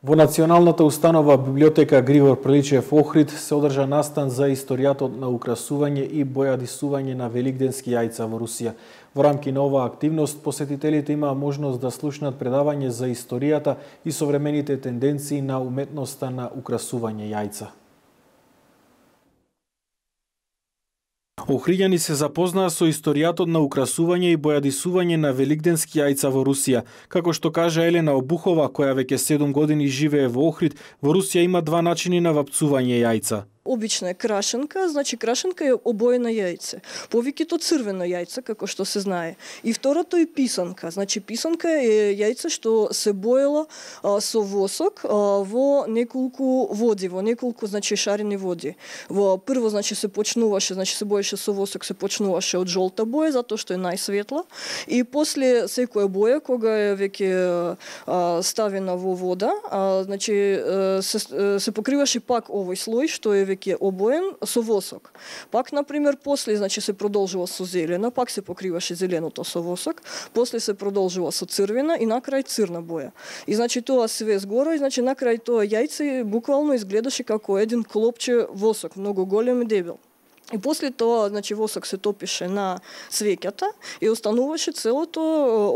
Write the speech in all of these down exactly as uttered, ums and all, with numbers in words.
Во Националната установа библиотека Григор Приличев Охрид се одржа настан за историјатот на украсување и бојадисување на великденски јајца во Русија. Во рамки на оваа активност, посетителите имаа можност да слушнат предавање за историјата и современите тенденции на уметноста на украсување јајца. Охриѓани се запознаа со историјатот на украсување и бојадисување на великденски јајца во Русија. Како што кажа Елена Обухова, која веќе седум години живее во Охрид, во Русија има два начини на вапцување јајца. Обична е крашенка, значи крашенка е обоена јајце. Повеќето црвено јајце, како што се знае. И второто е писанка. Значи писанка е јајце што се боела а, со восок а, во неколку води, во неколку значи шарени води. Во прво значи се почнуваше, значи се боеше со восок, се почнуваше од жолта боја затоа што е најсветла и после секоја боја кога е веќе а, ставена во вода, а, значи се, се покриваше пак овој слој што е веќе обоен со восок. Пак, например, после, значи, се продолжува со зелена, пак се покриваше зеленото со восок, после се продолжува со црвена и накрај црна боја. И, значи, тоа све згоро, и, значи, накрај тоа јајце буквално изгледаше како еден клопче восок, многу голем и дебел. И после тоа, значи, восок се топише на свеќата и остануваше целото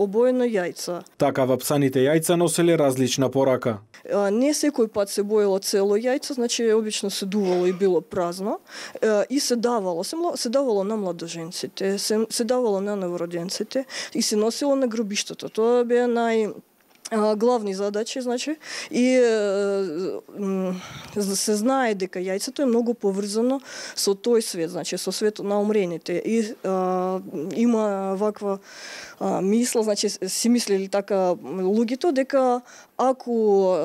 обоено јајца. Така вапсаните јајца носеле различна порака. Не секој пат се боело цело јајце, значи обично се дувало и било празно и се давало, се, се давало на младоженците, се, се давало на новороденците и се носило на гробиштето. Тоа беа нај главни задачи, значи, и се знае дека јајцето е многу поврзано со тој свет, значи со светот на умрените. И а, има ваква а, мисла, значи си мислели така луѓето дека ако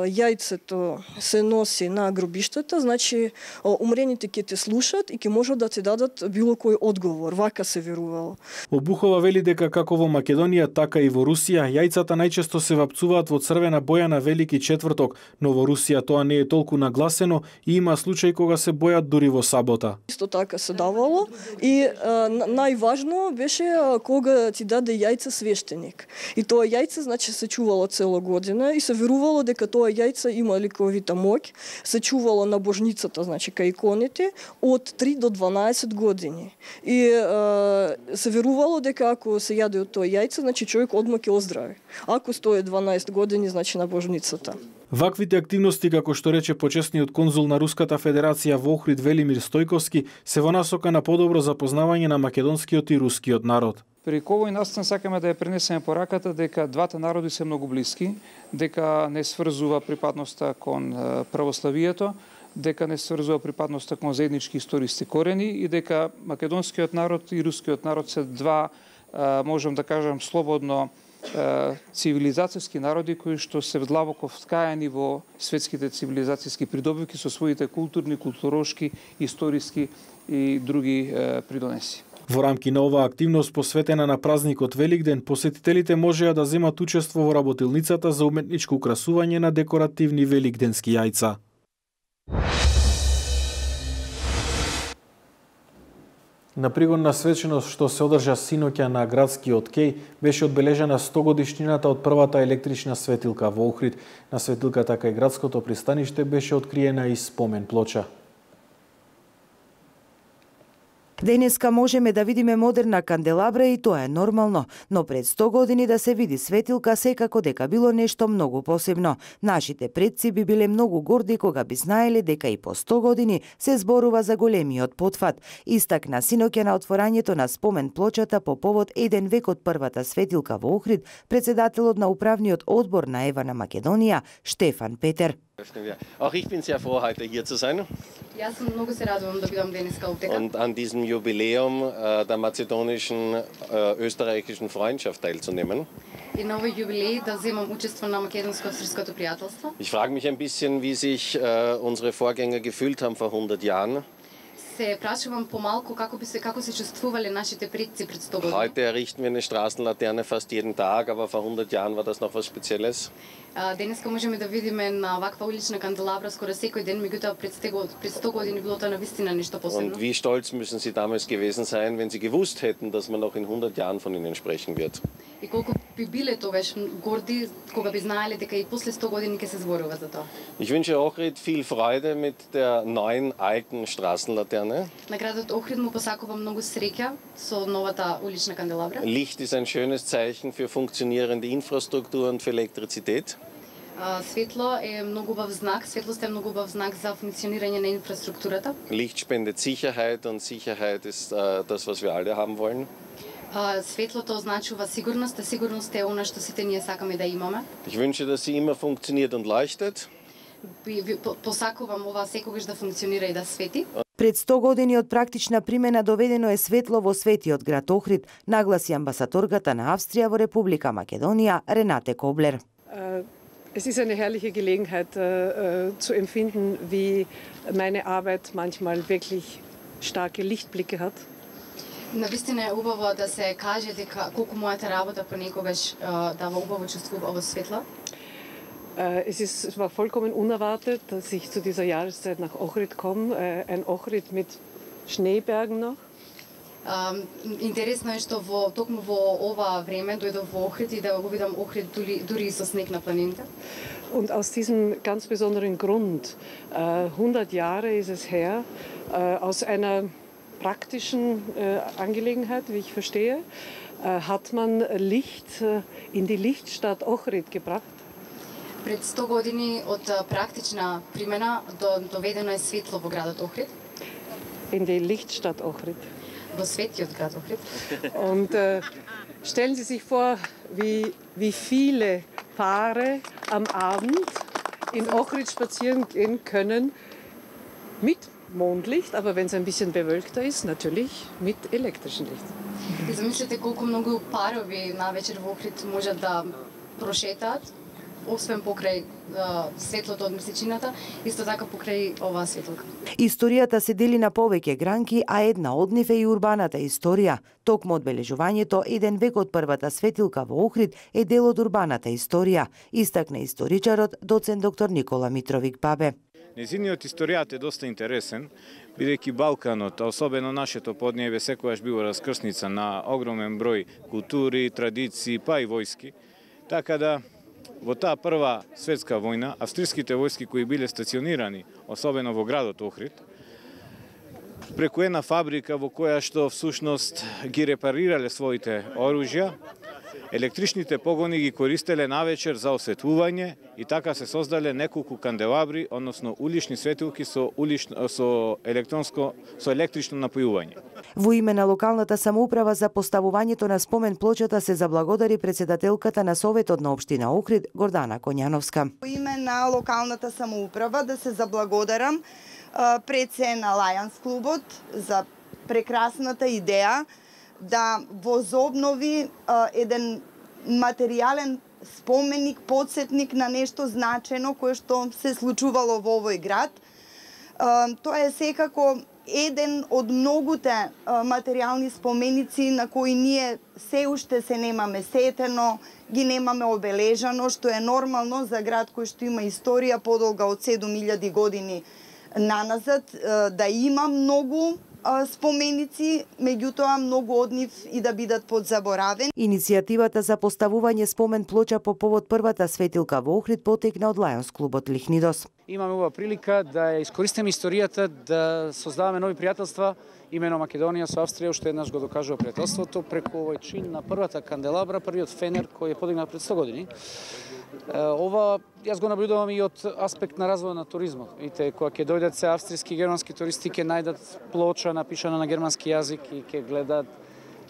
јајцето се носи на гробиштата, значи умрените ќе те слушат и ќе можат да ти дадат било кој одговор. Вака се верувало. Обухова вели дека како во Македонија, така и во Русија, јајцата најчесто се вапцуваат во црвена боја на Велики четврток, но во Русија тоа не е толку нагласено и има случаи кога се бојат дури во сабота. Исто така се давало и а, најважно беше а, кога ти даде јајце свештеник. И тоа јајце значи се чувало цела година и се верувало дека тоа јајце има ликовита моќ, се чувало на божницата, значи кај иконите од три до дванаесет години. И а, се верувало дека ако се јаде од тоа јајце, значи човек одма ќе оздрави. Ако стои дванаесет години, значи на божницата. Ваквите активности, како што рече почесниот конзул на Руската Федерација во Охрид Велимир Стојковски, се во насока на подобро запознавање на македонскиот и рускиот народ. Преку овој настан сакаме да ја пренесеме пораката дека двата народи се многу блиски, дека не сврзува припадноста кон православието, дека не сврзува припадноста кон заеднички историски корени и дека македонскиот народ и рускиот народ се два, можам да кажам слободно, цивилизацијски народи кои што се длабоко вткаени во светските цивилизацијски придобивки со своите културни, културошки, историски и други придонеси. Во рамки на оваа активност посветена на празникот Великден, посетителите можеа да земат учество во работилницата за уметничко украсување на декоративни великденски јајца. На пригодна свеченост што се одржа синоќа на градскиот кеј, беше одбележена сто годишнината од првата електрична светилка во Охрид. На светилката кај градското пристаниште беше откриена и спомен плоча. Денеска можеме да видиме модерна канделабра и тоа е нормално, но пред сто години да се види светилка секако дека било нешто многу посебно. Нашите предци би биле многу горди кога би знаеле дека и по сто години се зборува за големиот потфат. Истакна синоќа на отворањето на спомен плочата по повод еден век од првата светилка во Охрид, председателот на управниот одбор на Ева на Македонија, Штефан Петер. Auch ich bin sehr froh, heute hier zu sein. Ja, sam mnogo se radujem da бидам денеска овде. Und an diesem Jubiläum äh, der mazedonischen äh, österreichischen Freundschaft teilzunehmen. И на овој јубилеј да земам учество на македонско-српското пријателство. Ich frage mich ein bisschen, wie sich äh, unsere Vorgänger gefühlt haben vor hundert Jahren. се прашувам помалку како би се како се чувствувале нашите предци пред сто години. Heute errichten wir eine Straßenlaterne fast jeden Tag, aber vor hundert Jahren war das noch was Spezielles. Денеска можеме да видиме на ваква улична канделабра скоро секој ден, меѓутоа пред сто години било тоа навистина нешто посебно. Und wie stolz müssen Sie damals gewesen sein, wenn Sie gewusst hätten, dass man noch in hundert Jahren von Ihnen sprechen wird. И колку би биле тогаш горди кога би знаеле дека и после сто години ќе се зборува за тоа. Ich wünsche Ohrid viel Freude mit der neuen alten Straßenlaterne. На градот Охрид му посакувам многу среќа со новата улична канделабра. Licht ist ein schönes Zeichen für funktionierende Infrastruktur und für Elektrizität. Светло е многу убав знак, светлост е многу убав знак за функционирање на инфраструктурата. Licht spendet Sicherheit und Sicherheit ist uh, das, was wir alle haben wollen. Светлото означува сигурност, а сигурност е она што сите ние сакаме да имаме. Ich wünsche, dass sie immer funktioniert und leuchtet. Посакувам ова секогаш да функционира и да свети. Пред сто години од практична примена доведено е светло во светиот град Охрид, нагласи амбасадорката на Австрија во Република Македонија Renate Kobler. Es ist eine herrliche Gelegenheit äh, zu empfinden, wie meine Arbeit manchmal wirklich starke Lichtblicke hat. Навистина е убаво да се каже дека колку мојата работа понекогаш дава убаво чувство, убаво светло. Es ist, es war vollkommen unerwartet, dass ich zu dieser Jahreszeit nach Ohrid komme, ein Ohrid mit Schneebergen noch. Интересно е што во токму во ова време дојдов во Охрид и да го видам Охрид дури, дури со снег на планините. Und aus diesem ganz besonderen Grund, hundert Jahre ist es her, aus einer praktischen Angelegenheit, wie ich verstehe, hat man Licht in die Lichtstadt Ohrid gebracht. Пред сто години од практична примена доведено е светло во градот Охрид. In die Lichtstadt Ohrid. Во светиот град Охрид. Und äh, stellen Sie sich vor, wie, wie viele Paare am Abend in Ohrid spazieren gehen können mit Mondlicht, aber wenn es ein bisschen bewölkter ist, natürlich mit elektrischem Licht. И замислете колку многу парови навечер во Охрид можат да прошетаат, освен покрај светлото од месечината, исто така покрај оваа светлка. Историјата се дели на повеќе гранки, а една од нив е и урбаната историја. Токму одбележувањето еден век од првата светилка во Охрид е дел од урбаната историја, истакна историчарот доцент доктор Никола Митровик Бабе. Незиниот историјат е доста интересен, бидејќи Балканот, а особено нашето поднебе, секогаш било раскрсница на огромен број култури, традиции, па и војски. Така да во таа прва светска војна, австриските војски кои биле стационирани, особено во градот Охрид, преку една фабрика во која што всушност ги репарирале своите оружја, електричните погони ги користеле навечер за осветлување и така се создале неколку канделабри, односно улични светилки со улично со електронско со електрично напојување. Во име на локалната самоуправа за поставувањето на спомен плочата се заблагодари председателката на Советот на општина Охрид Гордана Коњановска. Во име на локалната самоуправа да се заблагодарам пред се на Лајанс клубот за прекрасната идеја да возобнови еден материјален споменик, подсетник на нешто значено кое што се случувало во овој град. Тоа е секако еден од многуте материјални споменици на кои ние се уште се немаме сетено, ги немаме обележано, што е нормално за град кој што има историја подолга од седум илјади години наназад, да има многу споменици, меѓутоа многу од нив и да бидат подзаборавени. Иницијативата за поставување спомен плоча по повод првата светилка во Охрид потекна од Лајонс клубот Лихнидос. Имаме ова прилика да искористиме историјата да создаваме нови пријателства, имено Македонија со Австрија, уште еднаш го докажува пријателството преку овој чин на првата канделабра, првиот фенер кој е подигнат пред сто години. Ова јас го наблюдувам и од аспект на развој на туризмот. Видите, кога ќе дојдат се австријски и германски туристи, ќе најдат плоча напишана на германски јазик и ќе гледат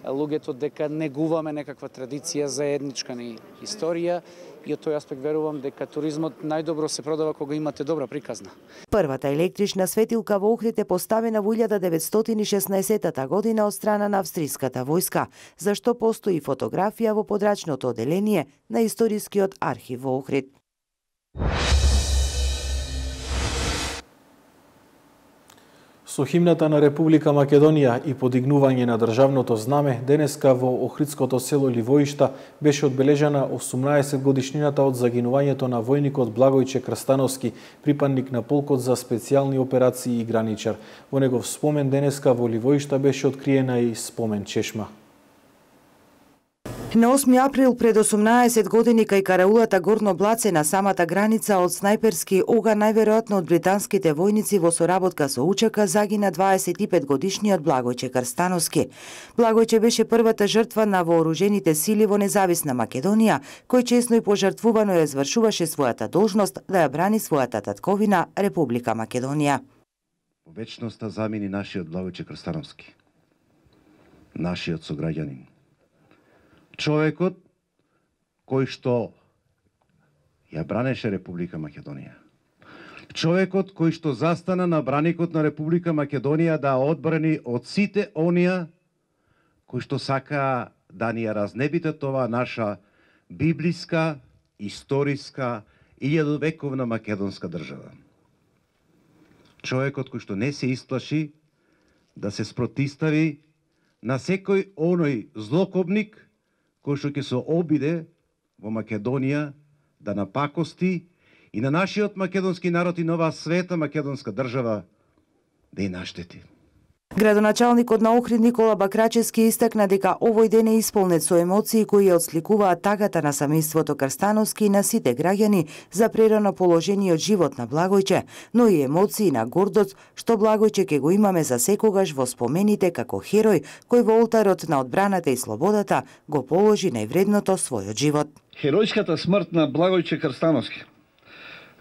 луѓето дека негуваме некаква традиција заедничка ни историја. И од тој аспект верувам дека туризмот најдобро се продава кога имате добра приказна. Првата електрична светилка во Охрид е поставена во илјада деветстотини и шеснаесетта година од страна на австриската војска, за што постои фотографија во подрачното оделение на историскиот архив во Охрид. Со химната на Република Македонија и подигнување на државното знаме, денеска во Охридското село Ливоишта беше одбележана осумнаесет годишнината од загинувањето на војникот Благојче Крстановски, припадник на полкот за специјални операции и граничар. Во негов спомен денеска во Ливоишта беше откриена и спомен чешма. На осми април пред осумнаесет години кај караулата Горно Блаце на самата граница од снајперски оган, најверојатно од британските војници во соработка со УЧК, загина дваесет и пет годишниот Благојче Крстановски. Благојче беше првата жртва на вооружените сили во независна Македонија, кој чесно и пожртвувано ја извршуваше својата должност да ја брани својата татковина Република Македонија. Во вечноста замини нашиот Благојче Крстановски, нашиот сограѓанин. Човекот кој што ја бранеше Република Македонија. Човекот кој што застана на браникот на Република Македонија да одбрани од сите онија кои што сака да ни ја разнебитат оваа наша библиска, историска и илјадовековна македонска држава. Човекот кој што не се исплаши да се спротистави на секој оној злокобник кој што ќе се обиде во Македонија да напакости и на нашиот македонски народ и на оваа света македонска држава да ја наштети. Градоначалникот на Охрид Никола Бакрачевски истакна дека овој ден е исполнет со емоции кои ја отсликуваат тагата на семејството Крстановски и на сите граѓани за прерано положениот живот на Благојче, но и емоции на гордост што Благојче ќе го имаме за секогаш во спомените како херој кој во олтарот на одбраната и слободата го положи највредното својот живот. Херојската смрт на Благојче Крстановски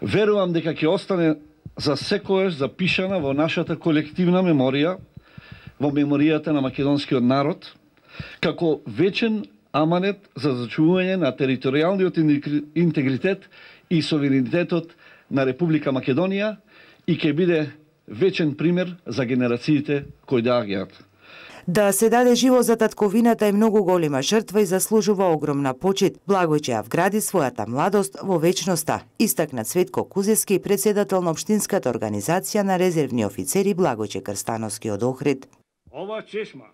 верувам дека ќе остане за секогаш запишана во нашата колективна меморија, во меморијата на македонскиот народ, како вечен аманет за зачувување на територијалниот интегритет и суверенитетот на Република Македонија и ќе биде вечен пример за генерациите кои доаѓаат. Да се даде живот за татковината е многу голема жртва и заслужува огромна почит. Благојче ја вгради својата младост во вечноста, истакна Цветко Кузевски, председател на Општинската организација на резервни офицери Благојче Крстановски од Охрид. Ова чешма,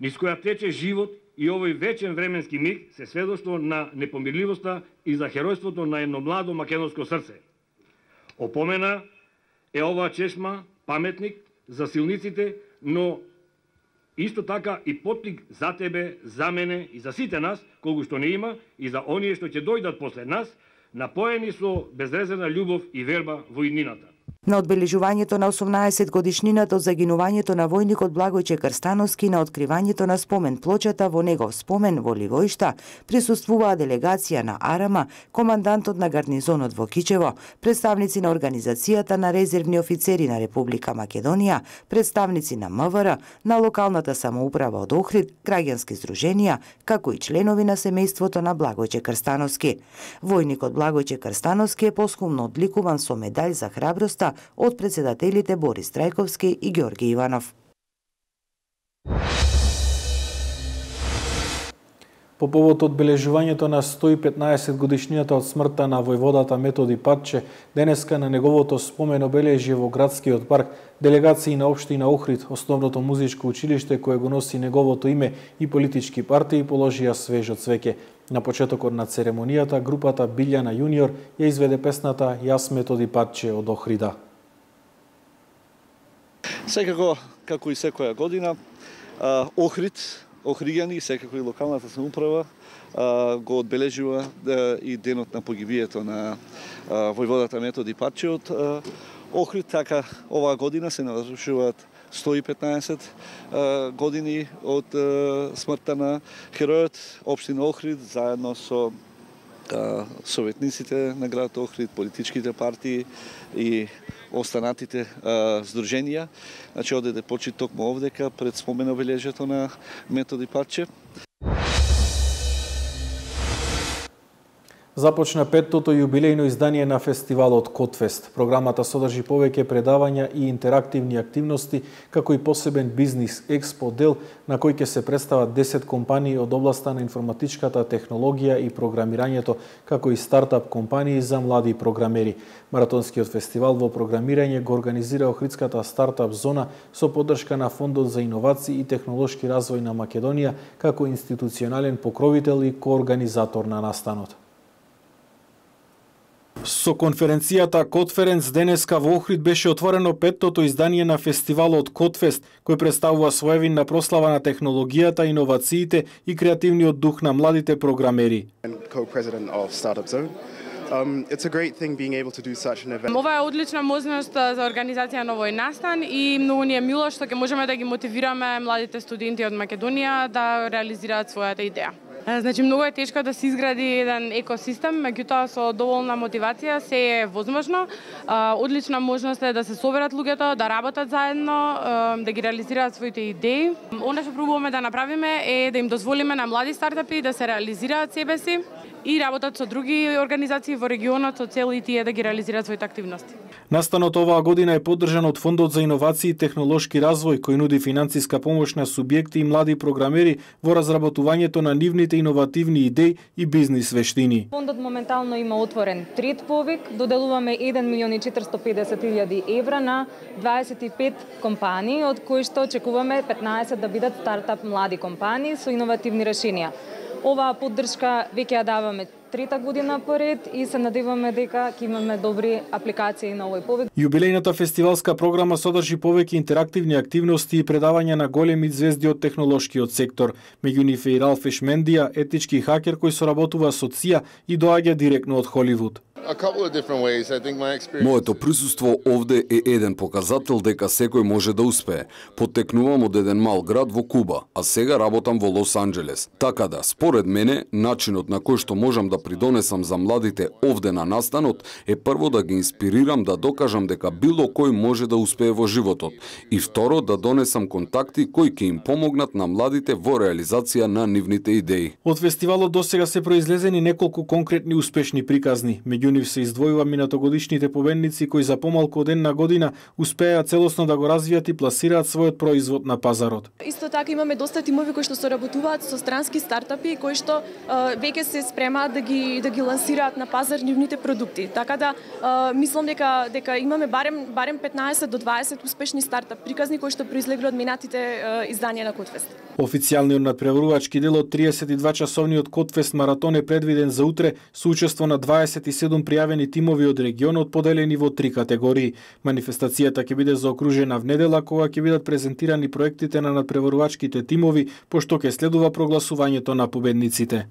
низ која тече живот и овој вечен временски миг се сведоштво на непомирливоста и за херојството на едно младо македонско срце. Опомена е оваа чешма паметник за силниците, но исто така и поттик за тебе, за мене и за сите нас, колку што не има, и за оние што ќе дојдат после нас, напоени со безрезервна љубов и верба во иднината. На одбележувањето на осумнаесет годишнината од загинувањето на војникот Благојче Крстановски, на откривањето на спомен плочата во негов спомен во Ливоишта, присуствуваа делегација на Арама, командантот на гарнизонот во Кичево, представници на Организацијата на резервни офицери на Република Македонија, представници на МВР, на локалната самоуправа од Охрид, граѓански здруженија, како и членови на семејството на Благојче Крстановски. Војникот Благојче Крстановски е поскумно одликуван со медаљ за храброста од председателите Борис Трајковски и Ѓорги Иванов. По повод одбележувањето на сто и петнаесет годишнината од смртта на војводата Методи Патче, денеска на неговото спомен обележје во градскиот парк делегации на општина Охрид, основното музичко училиште кое го носи неговото име и политички партии положија свежо цвеќе. На почетокот на церемонијата групата Билјана Јуниор ја изведе песната Јас Методи Патче од Охрида. Секако, како и секоја година, Охрид, охриѓани, секако и локалната самоуправа го одбележува и денот на погибието на војводата Методи Патче од Охрид. Така, оваа година се навршуваат сто и петнаесет години од смртта на херојот. Општина Охрид заедно со советниците на градот Охрид, политичките партии и останатите здруженија, значи одеде почит токму овдека пред спомен обележјето на Методи Патче. Започна петтото јубилејно издание на фестивалот Котфест. Програмата содржи повеќе предавања и интерактивни активности, како и посебен бизнис експо дел на кој ќе се представат десет компании од областа на информатичката технологија и програмирањето, како и стартап компании за млади програмери. Маратонскиот фестивал во програмирање го организира Охридската стартап зона со поддршка на Фондот за иновации и технолошки развој на Македонија, како институционален покровител и коорганизатор на настанот. Со конференцијата Котференц денеска во Охрид беше отворено петтото издание на фестивалот Котфест, кој представува своевинна прослава на технологијата, иновациите и креативниот дух на младите програмери. Um, it's a great thing being able to do such an event. Ова е одлична можност за организација на овој настан и многу ни е мило што ќе можеме да ги мотивираме младите студенти од Македонија да реализираат својата идеја. Значи, многу е тешко да се изгради еден екосистем, меѓутоа со доволна мотивација се е возможно. Одлична можност е да се соберат луѓето, да работат заедно, да ги реализираат своите идеи. Она што пробуваме да направиме е да им дозволиме на млади стартапи да се реализираат себе си и работат со други организации во регионот со цел и тие да ги реализираат своите активности. Настанот оваа година е поддржан од Фондот за иновации и технолошки развој, кој нуди финансиска помош на субјекти и млади програмери во разработувањето на нивните иновативни идеи и бизнис вештини. Фондот моментално има отворен трет повик, доделуваме еден милион и четиристотини и педесет илјади евра на дваесет и пет компании, од кои што очекуваме петнаесет да бидат стартап млади компании со иновативни решенија. Оваа поддршка веќе ја даваме трета година поред и се надеваме дека ќе имаме добри апликации на овој повик. Јубилејната фестивалска програма содржи повеќе интерактивни активности и предавања на големи звезди од технолошкиот сектор. Меѓу нив е и Ралф Ешмендија, етички хакер кој соработува со ЦИА и доаѓа директно од Холивуд. Моето присуство овде е еден показател дека секој може да успее. Потекнувам од еден мал град во Куба, а сега работам во Лос Анџелес. Така да, според мене, начинот на кој што можам да придонесам за младите овде на настанот е прво да ги инспирирам да докажам дека било кој може да успее во животот и второ да донесам контакти кои ќе им помогнат на младите во реализација на нивните идеи. Од фестивалот досега се произлезени неколку конкретни успешни приказни. Меѓу нив се издвојува минатогодишните победници кои за помалку од една година успеа целосно да го развијат и пласираат својот производ на пазарот. Исто така имаме доста тимови кои што соработуваат со странски стартапи кои што веќе се спремаат да ги да ги лансираат на пазар нивните продукти. Така да мислам дека дека имаме барем барем петнаесет до дваесет успешни стартап приказни кои што произлегле од минатите изданија на Котфест. Официјалниот надпреварувачки дел од триесет и два часовниот Котфест маратон е предвиден за утре со учество на дваесет и седум пријавени тимови од регионот поделени во три категории. Манифестацијата ќе биде заокружена внедела кога ќе бидат презентирани проектите на надпреварувачките тимови, пошто ќе следува прогласувањето на победниците.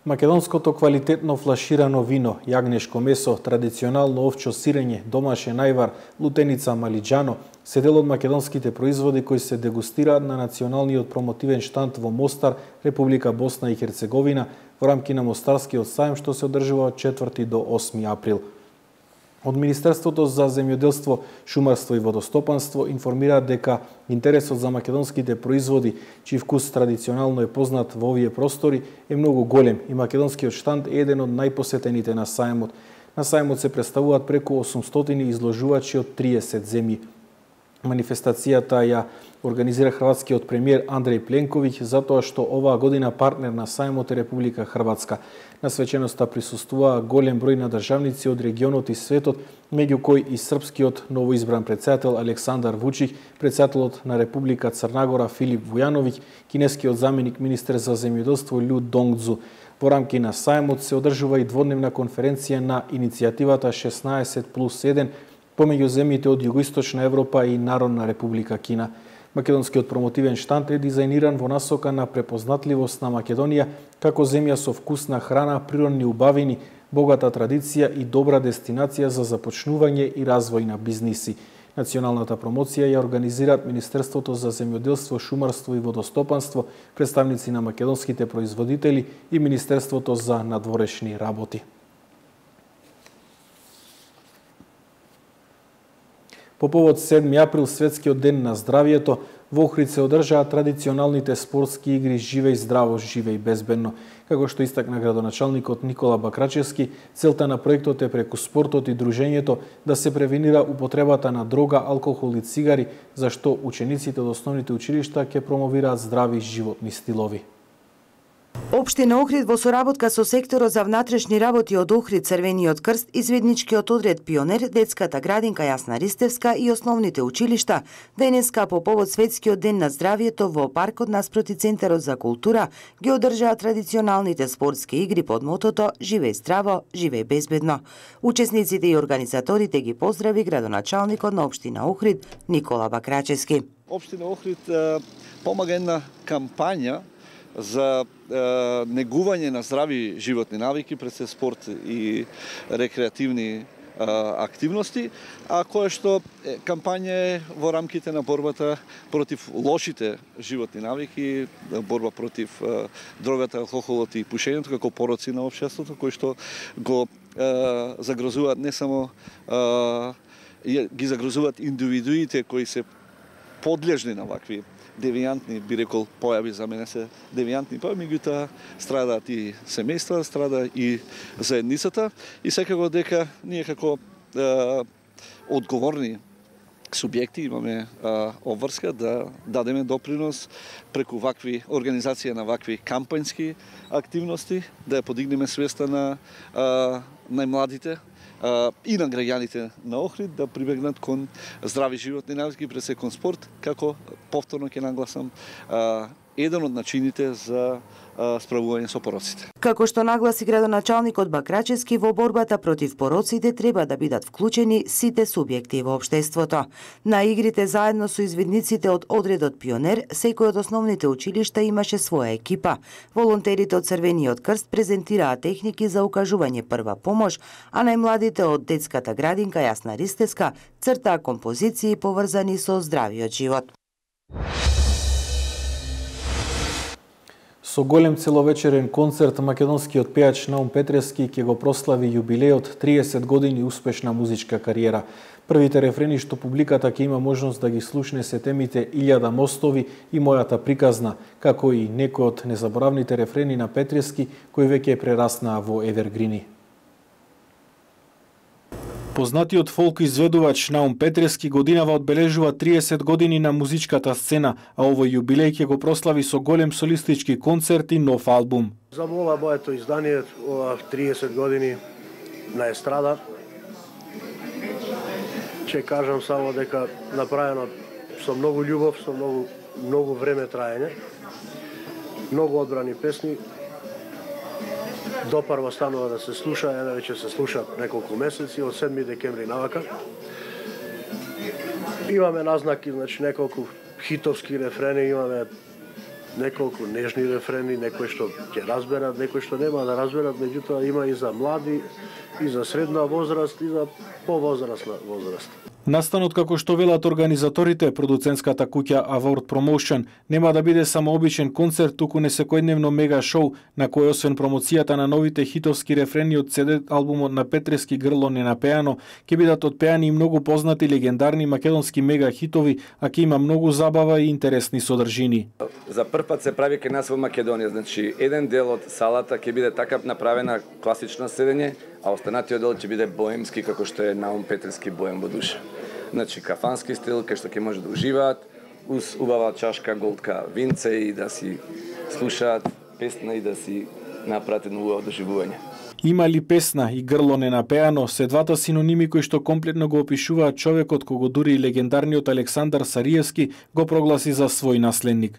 Македонското квалитетно флаширано вино, јагнешко месо, традиционално овчо сирење, домашен ајвар, лутеница малиџано, се дел од македонските производи кои се дегустираат на националниот промотивен штанд во Мостар, Република Босна и Херцеговина, во рамки на Мостарскиот сајм што се одржува од четврти до осми април. Од Министерството за земјоделство, шумарство и водостопанство информираат дека интересот за македонските производи, чиј вкус традиционално е познат во овие простори, е многу голем и македонскиот штанд е еден од најпосетените на сајмот. На сајмот се представуваат преку осумстотини изложувачи од триесет земји. Манифестацијата ја организира хрватскиот премиер Андреј Пленковиќ затоа што оваа година партнер на сајмот е Република Хрватска. На свеченоста присуствуваа голем број на државници од регионот и светот, меѓу кои и српскиот новоизбран претседател Александар Вучиќ, претседателот на Република Црнагора Филип Вујановиќ, кинескиот заменик министер за земјоделство Лју Донгдзу. Во рамки на сајмот се одржува и дводневна конференција на иницијативата шеснаесет плюс еден помеѓу земјите од Југоисточна Европа и Народна Република Кина. Македонскиот промотивен штанд е дизајниран во насока на препознатливост на Македонија како земја со вкусна храна, природни убавини, богата традиција и добра дестинација за започнување и развој на бизниси. Националната промоција ја организираат Министерството за земјоделство, шумарство и водостопанство, представници на македонските производители и Министерството за надворешни работи. По повод седми април, Светскиот ден на здравието, Во Охрид се одржаа традиционалните спортски игри Живеј здраво, живеј безбедно. Како што истакна градоначалникот Никола Бакрачевски, целта на проектот е преку спортот и дружењето да се превенира употребата на дрога, алкохол и цигари, зашто учениците од основните училишта ќе промовираат здрави животни стилови. Општина Охрид во соработка со секторот за внатрешни работи од Охрид, Црвениот крст, изведничкиот одред Пионер, детската градинка Јасна Ристевска и основните училишта денеска по повод Светскиот ден на здравието во паркот наспроти Центарот за култура ги одржаа традиционалните спортски игри под мотото Живеј здраво, живеј безбедно. Учесниците и организаторите ги поздрави градоначалникот на општина Охрид Никола Бакрачевски. Општина Охрид помага една кампања за е, негување на здрави животни навики пред се спорт и рекреативни е, активности, а кое што е, кампања е во рамките на борбата против лошите животни навики, борба против е, дрогата, алкохолот и пушењето како пороци на општеството, кои што го е, загрозуваат не само е, ги загрозуваат индивидуите кои се подлежни на вакви девијантни, би рекол, појави, за мене се девијантни појави, меѓутоа страдаат и семејства, страда и заедницата и секако дека ние како е, одговорни субјекти имаме е, обврска да дадеме допринос преку вакви организација на вакви кампањски активности, да ја подигнеме свеста на е, најмладите и на граѓаните на Охрид да прибегнат кон здрави животни навики, пред се кон спорт, како повторно ќе нагласам еден од начините за справување со пороците. Како што нагласи градоначалникот Бакрачевски, во борбата против пороците треба да бидат вклучени сите субјекти во општеството. На игрите заедно со извидниците од одредот Пионер, секој од основните училишта имаше своја екипа. Волонтерите од Црвениот крст презентираа техники за укажување прва помош, а најмладите од детската градинка Јасна Ристевска цртаа композиции поврзани со здравиот живот. Со голем целовечерен концерт македонскиот пејач Наум Петревски ќе го прослави јубилеот триесет години успешна музичка кариера. Првите рефрени што публиката ќе има можност да ги слушне се темите Илјада мостови и Мојата приказна, како и некои од незаборавните рефрени на Петревски кои веќе прераснаа во евергрини. Познатиот фолк изведувач Наум Петревски годинава одбележува триесет години на музичката сцена, а овој јубилеј ќе го прослави со голем солистички концерт и нов албум. Забола моето издание ова триесет години на естрада. Ќе кажам само дека направено со многу љубов, со многу многу време траење. Многу одбрани песни. Допарва станува да се слуша, еве веќе се слуша неколку месеци, од седми декември навака. Имаме назнаки, значи неколку хитовски рефрени, имаме неколку нежни рефрени, некои што ќе разберат, некои што нема да разберат, меѓутоа има и за млади, и за средна возраст, и за повозрастна возраст. Настанот, како што велат организаторите, продуцентската куќа Award Promotion, нема да биде само обичен концерт, туку не секојдневно мега шоу, на кој освен промоцијата на новите хитовски рефрени од си ди албумот на Петревски Грло ненапеано, ќе бидат отпеани и многу познати легендарни македонски мега хитови, а ќе има многу забава и интересни содржини. За прв пат се прави кај нас во Македонија, значи еден дел од салата ќе биде така направена класична седење, а останатиот дел ќе биде боемски, како што е Наум Петревски боем во душа. Значи кафански стил, кај што ќе може да уживаат, уз убава чашка голтка винце и да си слушаат песна и да си направат едно убаво доживување. Има ли песна и Грло ненапеано се двата синоними кои што комплетно го опишуваат човекот кого дури и легендарниот Александар Сариевски го прогласи за свој наследник.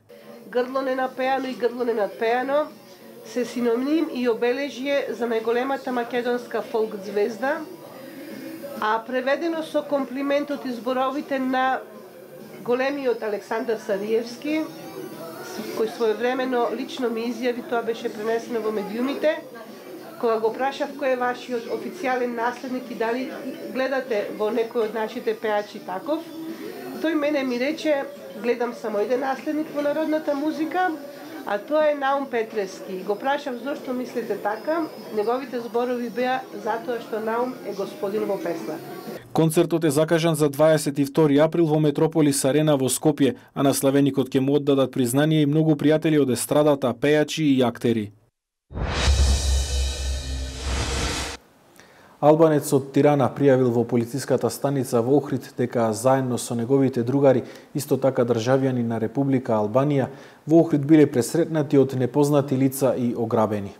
Грло ненапеано и Грло ненапеано се синоним и обележје за најголемата македонска фолк звезда, а преведено со комплиментот и зборовите на големиот Александар Сариевски, кој своевремено лично ми изјави, тоа беше пренесено во медиумите, кога го прашав кој е вашиот официјален наследник и дали гледате во некој од нашите пејачи таков, тој мене ми рече, гледам само еден наследник во народната музика, а тоа е Наум Петревски. Го прашав зошто мислите така, неговите зборови беа затоа што Наум е господин во песна. Концертот е закажан за дваесет и втори април во Метрополис Арена во Скопје, а на славеникот ќе му оддадат признание и многу пријатели од естрадата, пејачи и актери. Албанец од Тирана пријавил во полициската станица во Охрид дека заедно со неговите другари, исто така државјани на Република Албанија, во Охрид биле пресретнати од непознати лица и ограбени.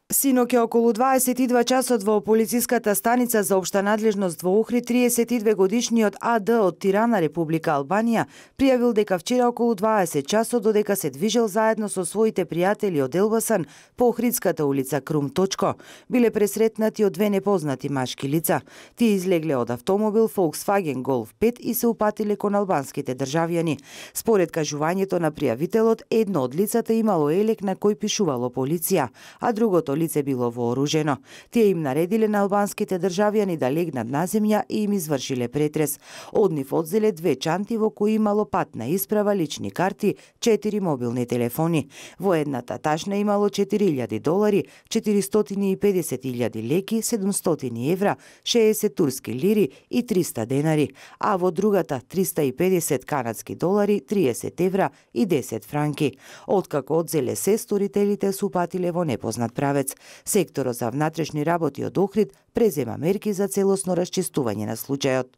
Синоќ е околу дваесет и два часот во полициската станица за општа надлежност во Охрид триесет и две годишниот А Д од Тирана, Република Албанија, пријавил дека вчера околу дваесет часот додека се движел заедно со своите пријатели од Елбасан по Охридската улица Крум Точко, биле пресретнати од две непознати машки лица. Тие излегле од автомобил Volkswagen Golf пет и се упатиле кон албанските државјани. Според кажувањето на пријавителот, едно од лицата имало елек на кој пишувало полиција, а другото лице било вооружено. Тие им наредиле на албанските државјани да легнат на земја и им извршиле претрес. Од нив одзеле две чанти во кои имало патна исправа, лични карти, четири мобилни телефони. Во едната ташна имало четири илјади долари, четиристотини и педесет илјади леки, седумстотини евра, шеесет турски лири и триста денари, а во другата триста и педесет канадски долари, триесет евра и десет франки. Откако одзеле се, сторителите се упатиле во непознат правец. Секторот за внатрешни работи од Охрид презема мерки за целосно расчистување на случајот.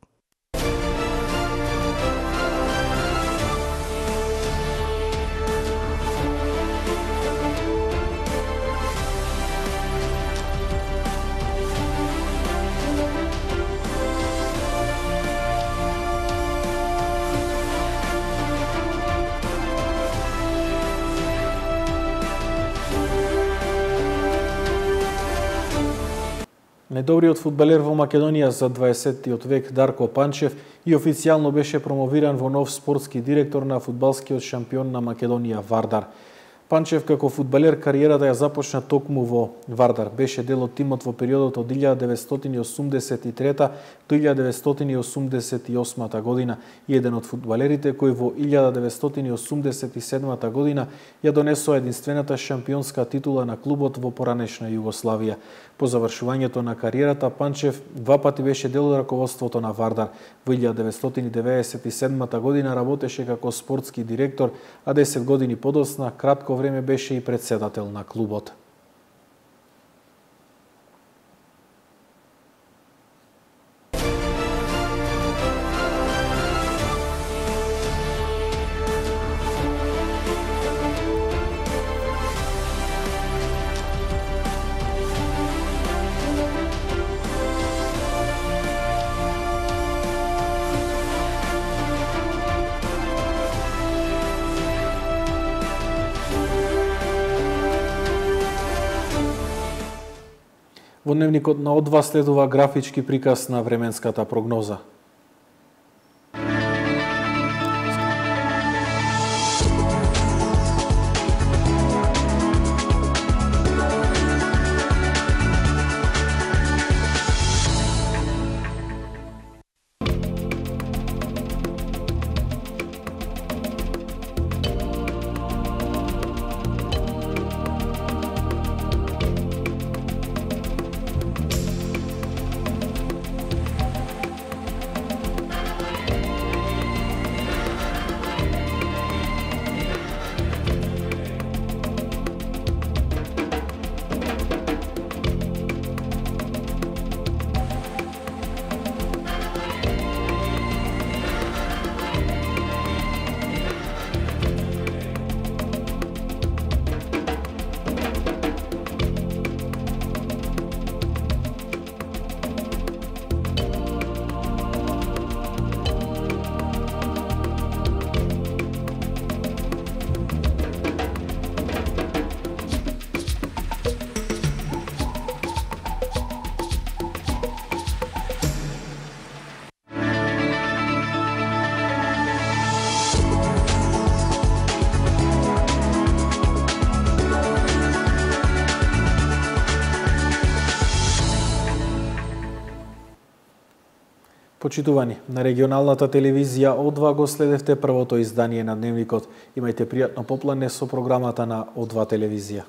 Најдобриот фудбалер во Македонија за дваесеттиот век Дарко Панчев и официјално беше промовиран во нов спортски директор на фудбалскиот шампион на Македонија Вардар. Панчев како фудбалер кариерата ја започна токму во Вардар. Беше дел од тимот во периодот од илјада деветстотини осумдесет и трета до илјада деветстотини осумдесет и осма година и еден од фудбалерите кои во илјада деветстотини осумдесет и седма година ја донесоа единствената шампионска титула на клубот во поранешна Југославија. По завршувањето на кариерата, Панчев два пати беше дел од раководството на Вардар. Во илјада деветстотини деветдесет и седма година работеше како спортски директор, а десет години подоцна кратко време беше и претседател на клубот. Во дневникот на Од два следува графички приказ на временската прогноза. Почитувани, на регионалната телевизија О два го следевте првото издание на Дневникот. Имајте пријатно поплане со програмата на О два телевизија.